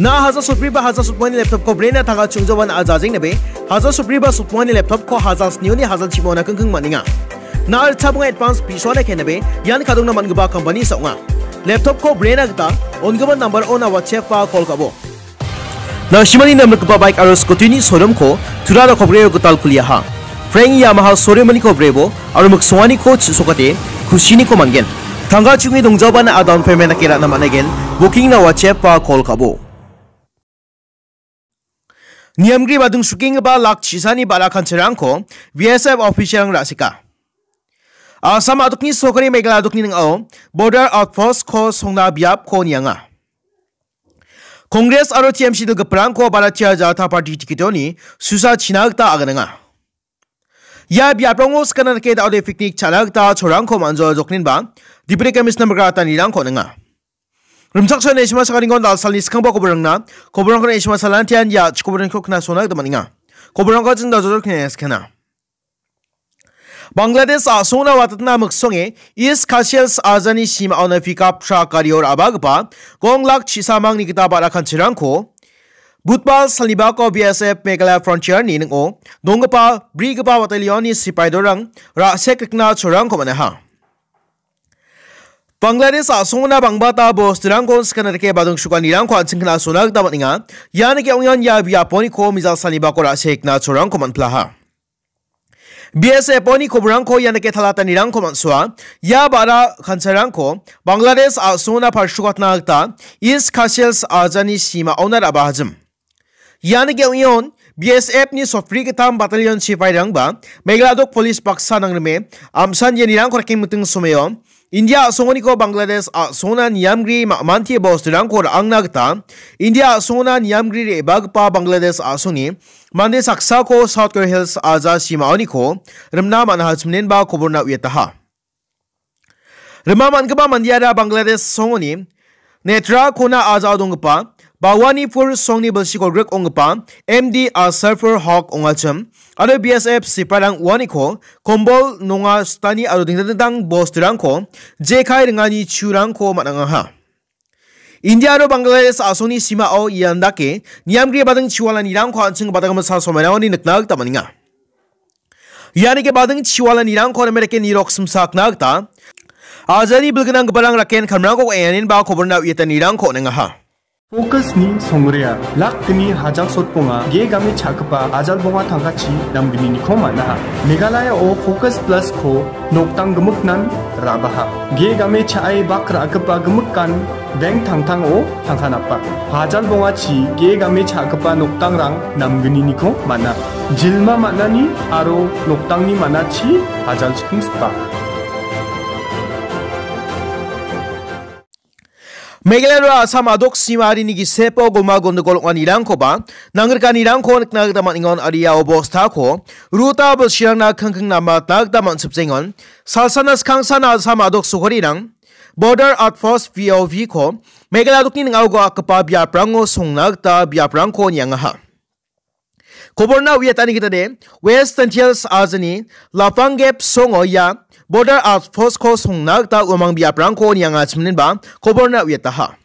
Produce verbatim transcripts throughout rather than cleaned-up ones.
Na hajar sotbri ba hajar sotmani laptop ko brena tangka chungjawan a jajeng nabe, hajar sotbri ba sotmani laptop ko hajar snioni hajar chimona kengkeng maninga. Na ritchabunga advance pisoana ke nabe, ian kadongna man·gipa company saonga. Laptop ko brena gita, on·gimin number ona WhatsApp ba call kabo. Nangsimani namrikgipa bike aro scooty-ni showroom-ko tura rokopgrio gital kuliaha. Frank Yamaha showroom-niko brebo aro miksonganiko chisokate kusiniko man·gen. Tangka chungi dongjabana a down payment dake ra·na man·aigen. Booking-na WhatsApp-ba call kabo. Niamgri badung sukenggipa lak chisani ba·ra kanchirangko B S F official-rang ra·sika. Assam adokni sokari Meghalaya adokni ning·ao border outpost-ko songna biapko nianga. Congress aro T M C dilgiparangko Bharatiya Janata Party ticket-oni susa china gita aganenga. Ia biaprango skana dake da·ode picnic cha·na gita cholrangko man·joa jokninba Deputy Commissioner migratanirangko on·enga. Rimchaksoa Neshima Sakaringon dalsalni skangba koborangna koborangko Neshima Salantian ia chikoborangko knasona gita man·enga. Koborangko jing dajodok kneskena. Bangladesh a·songna watatna miksonge East Khasi Hills ajani simaona pickup truck gario ra·bagipa gong lak chisamangni gita ba·ra kanchirangko Budbar salnibako B S F Meghalaya Frontier-ni ning·o donggipa brigipa battalion-ni sipaidorang ra·sek rikna cholrangko man·aha. Bangladesh a·songna bangbata bosturangko skana dake badung sukanirangko an·ching knasona gita man·enga. Ian dake ong·eon ia biaponiko mijal salnibako ra·sek rikna cholrangko man·plaha. B S F-oni koborangko ian dake talatanirangko man·soa. Ia ba·ra kanchirangko Bangladesh a·songna palsukatna gita East Khasi Hills ajani simaona ra·bahajim. Ian dake ong·eon B S F-ni sotbri gittam battalion sipairangba Meghalaya dok police baksa nangrime amsan ianirangko rakkengmiting someo India a·songoniko Bangladesh a·songna niamgri ma·manti bosturangko ra·angna gita India a·songona niamgri re·bagipa Bangladesh a·songni mande saksako South Khasi Hills aja simaoniko rimna man·aha chiminenba koborna uiataha. Rima man·gipa mandeara Bangladesh songoni Netrakona ajao donggipa Bhawanipur songni bilsi kolgrik onggipa M D Asarfur Hok ong·achim aro B S F sipairang uaniko kombol nonga sutani aro dingtang dingtang bosturangko jekai ringani churangko man·angaha. India aro Bangladesh a·songni simao ian dake niamgri bading chiwalanirangko an·ching badang masa somairangoni nikna gita man·enga. Ianike bading chiwalanirangko name dake nirok simsakna gita ajani bilgnanggiparang raken kamrangko enganinba koborna uiatanirangko on·engaha. Focus-ni songrea, lak gni hajal sotbonga, ge game cha·gipa ajal bonga tangkachi namgnini nikom man·aha. Meghalaya-o Focus Plus-ko noktang gimiknan ra·baha. Ge game cha·e bak ra·gipa gimikan bank tangtango tangka napa. Hajal bongachi ge game cha·gipa noktangrang namgniniko man·a. Jilma man·ani aro noktangni man·achi hajal chikingsipa. Meghalaya aro Assam a·dok simarini gisepo goma gondogol ong·anirangkoba nangrikanirangko nikna gita man·engon, aro ia obostako ruta bilsirangna kingking namatna gita man·sipjengon. Salsana skangsan Assam a·dok sokarirang Border Outpost, B O V-ko Meghalaya a·dokni ning·ao ga·akgipa biaprango songna gita biaprangko niangaha. Koborna uiatani gitade, West Jaintia Hills ajani Laphang Gap songo ia Border Outpost-ko songna gita uamang biaprangko nianga chiminenba koborna uiataha.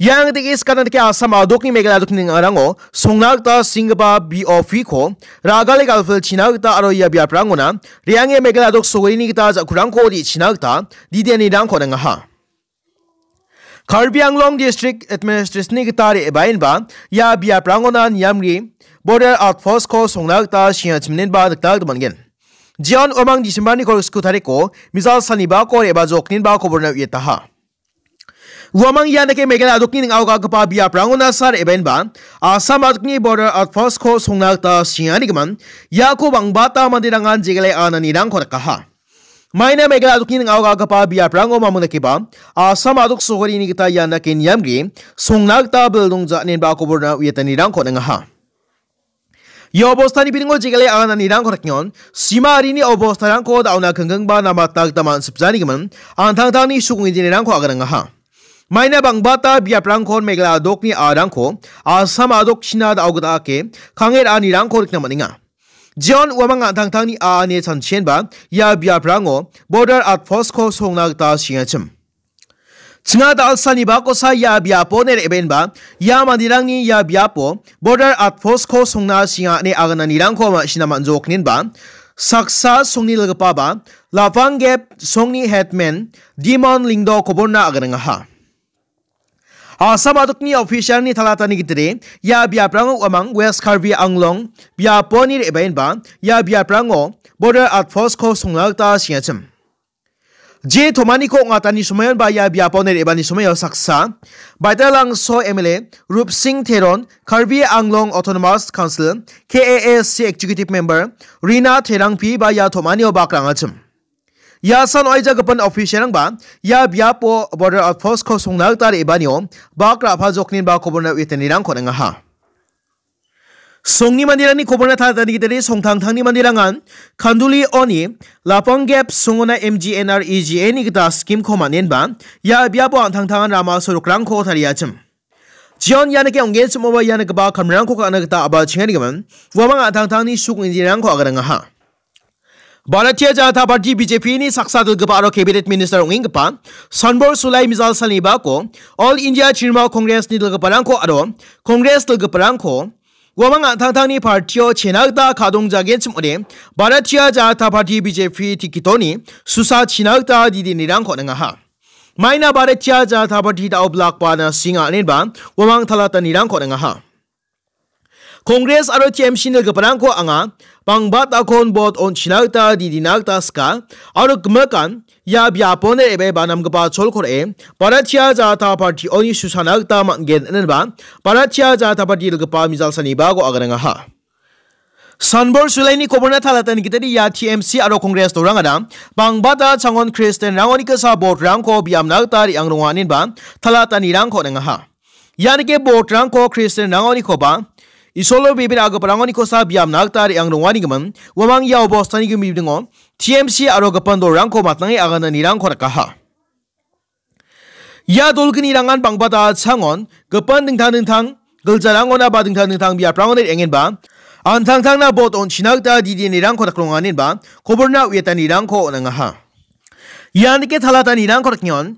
Ian dake skana dake Assam a·dokni Meghalaya a·dokni ning·arango songna gita singgipa B O V-ko ragale galpilchina gita aro ia biaprangona re·ange Meghalaya a·dok sokarini gita ja·kurangko re·china gita didianirangko on·engaha. Karbi Anglong District Administration-ni gita re·baenba ia biaprangona niamri Border Outpost-ko songna gita sringa chiminenba nikna gita man·gen. Jeon uamang December-ni kolgriksku tariko mejal salnibako re·bajokninba koborna uiataha. Uamang ian dake Meghalaya a·dokni ning·ao ga·gipa biaprangona sa re·baenba Assam a·dokni Border Outpost-ko songna gita sringanigimin iako bangbata manderangan jegale ananirangko dakaha. Maina Meghalaya a·dokni ning·ao ga·gipa biaprango mamung dakeba Assam a·dok sokarini gita ian dake niamgri songna gita bildongja inenba koborna uiatanirangko on·engaha. Ia obostani biringo jegale ananirangko dakengon, sima arini obostarangko da·ona kinggingba namatna gita man·sipjanigimin an·tangtangni sukonggenirangko aganangaha. Maina bangbata biaprangkon Meghalaya a·dokni a·rangko Assam a·dokchina da·o gita ake kange ra·anirangko nikna man·enga. Jeon uamang an·tangtangni a·ane chanchienba ia biaprango Border Outpost-ko songna gita singachim. Chinga dal·sani bakosa ia biapo ne re·baenba, ia manderangni ia biapo border outpost-ko songna sringa ine agananirangko ma·sina man·jokninba, saksa songni dilgipaba, Lapang Gap songni headman Dimon Lyngdoh koborna aganangaha. Assam adokni official-ni talatani gitire, ia biaprango uamang West Karbi Anglong biaponi re·baenba, ia biaprango border outpost-ko songna gita sengachim. Je tomaniko ong·atani somoion ba ia biapo ne re·bani somoio saksa, Baitalangso M L A Rupsing Teron, Karbi Anglong Autonomous Council, K A A C Executive Member Rina Terangpi ba ia tomanio bak ra·angachim. Ia san oaija gipin official-rangba ia biapo border outpost-ko songna gita re·banio bak ra·pajokninba koborna uiatanirangko on·angaha. Songni manderangni koborna talatani gitade songtangtangni manderangan Khanduli oni Lapang Gap songona M G N R E G A-ni gita scheme-ko man·enba, ia biapo an·tangtangan rama sorokrangko tariachim. Jion ianike ong·genchimoba ianigipa kamrangko ka·na gita a·balchengarigimin, uamang an·tangtangni suk injinrangko aganangaha. Bharatiya Janata Party B J P-ni saksa dilgipa aro cabinet minister ong·enggipa Sanbor Sulai mijal salni bako All India Trinamool Congress-ni dilgiparangko aro Congress dilgiparangko uamang an·tangtangni partio chena gita kadongjagenchim ong·ode Bharatiya Janata Party B J P tikitoni susa china gita didinirangko on·angaha. Maina Bharatiya Janata Party da·o blak ba na singa anenba uamang talatanirangko on·angaha. Congress aro T M C-ni dilgiparangko anga bangbatakon bot on·china gita didina gita sika aro gimikan ia biapon re·bae ba namgipa cholko re·e Bharatiya Janata Party-oni susana gita man·gen inenba Bharatiya Janata Party dilgipa mijal salni bako aganangaha. Sanbor Sulaini koborna talatani gitade ia T M C aro Congress dorangara bangbata changon Kristianrangoni kisa botrangko biamna gita re·ang ronga inenba talatanirangko on·angaha. Ianike botrangko Kristianrangonikoba, Isolo bibir agiparangonikosa biamna gita re·ang ronganigimin, uamang ia obostani gimibringo T M C aro gipin dolrangko matnange agananirangko rikaha. Ia dolgnirangan bangbata changon gipin dingtang dingtang giljarangona ba dingtang dingtang biaprangoni re·angenba, an·tangtangna bot on·china gita didinirangko dakronganinba, koborna uiatanirangko on·angaha. Ianike talatanirangko riknion,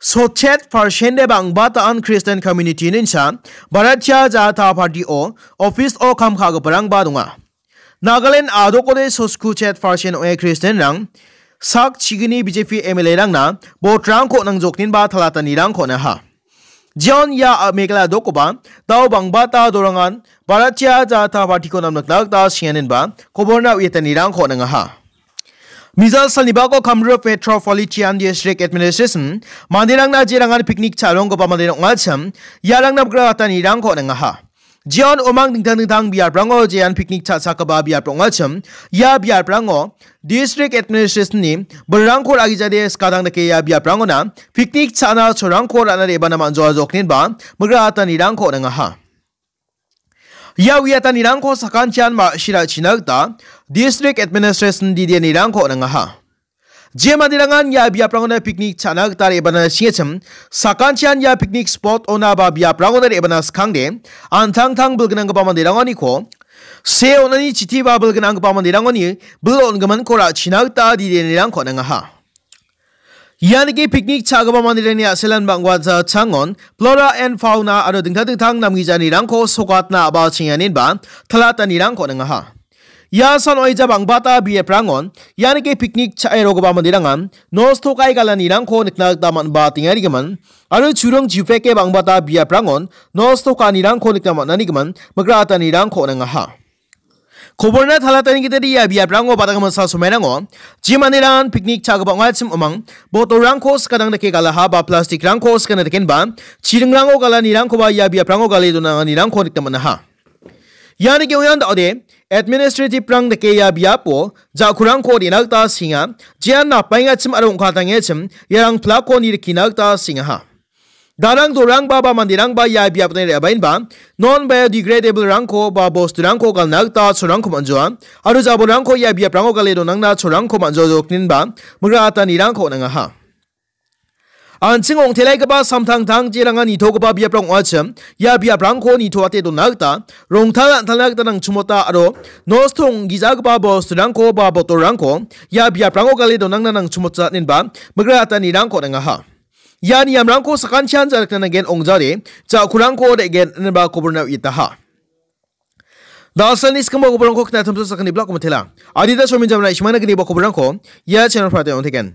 sotchet parsende bang·bataan Christian community ninsa, Bharatiya Janata Party-o office-o kam ka·giparangba donga. Nagaland adokode sotchet parsend ong·e Christian-rang, sak chigini B J P M L A-rangna botrangko nangjokninba talatanirangko on·aha. Jion ia a-, Meghalaya dokoba, dao bangbata dorangan Bharatiya Janata Party-ko namnikna gita sianinba, koborna uiatanirangko on·angaha. Mijal salni bako Kamrup Metropolitan District Administration manderangna jerangan picnic cha·ronggipa manderang ong·achim, iarangna migratanirangko on·angaha. Jeon omang dingtang dingtang biaprango jean picnic cha·chakgipa biap ong·achim, ia biaprango District Administration-ni bilrangko ra·gijade skadang dake ia biaprangona picnic cha·na cholrangko ra·na re·bana man·joa jokninba migratanirangko on·angaha. Ia uiatanirangko sakantian ma·sina china gita District Administration didianirangko on·angaha. Je manderangan ia biaprangona picnic cha·na gita re·bana singachim, sakantian ia picnic spot-ona ba biaprangona re·bana skangde, an·tangtang bilgnanggipa manderangoniko, se on·ani chiti ba bilgnanggipa manderangoni bil on·giminko ra·china gita didianirangko on·angaha. Ianike picnic cha·gipa manderangni a·selan bang·bata changon, flora and fauna aro dingtang dingtang namgijanirangko sokatna a·bal chenganinba talatanirangko on·angaha. Ia san oaija bang·bata biaprangon, ianike picnic cha·e rogipa manderangan nosto ka·e galanirangko nikna gita man·ba tengarigimin, aro churung jipeke bang·bata biaprangon nosto ka·anirangko nikna man·anigimin migratanirangko on·angaha. Koborna talatani gitade ia biaprango badagimasa somairangko, je manderangan picnic cha·gipa ong·achim omang, botolrangko skadang dake galaha ba plastikrangko skana dakenba, chiringrango galanirangkoba ia biaprango gale donanganirangko nikna man·aha. Ianike ong·ean da·ode, administrative-rang dake ia biapo ja·kurangko re·na gita senga, jean napaengachim aro ong·katangechim iarang plak-ko nirikina gita sengaha. Darang dorangba ba manderangba ia biapni re·baenba non biodegradable-rangko ba bosturangko galna gita cholrangko man·joa, aro jabolrangko ia biaprango gale donangna cholrangko man·joa jokninba migratanirangko on·angaha. An·ching ong·telaigipa samtangtang jerangan nitogipa biaprang ong·achim, ia biaprangko nitoate dona gita rongtal an·talna gita nangchimota aro nosto ong·gijagipa bosturangko ba botolrangko ia biaprango gale donangna nangchimota inenba migratanirangko on·angaha. Ia niamrangko sakantian ja·rikna nanggen, ongjade ja·kurangko de·gen ineba koborna uietaha. Dalsalni skangba koborangko knatamsa sakani blak komitela. Adita somin jamna ishmana gniba koborangko ia channel-rangde on·teken.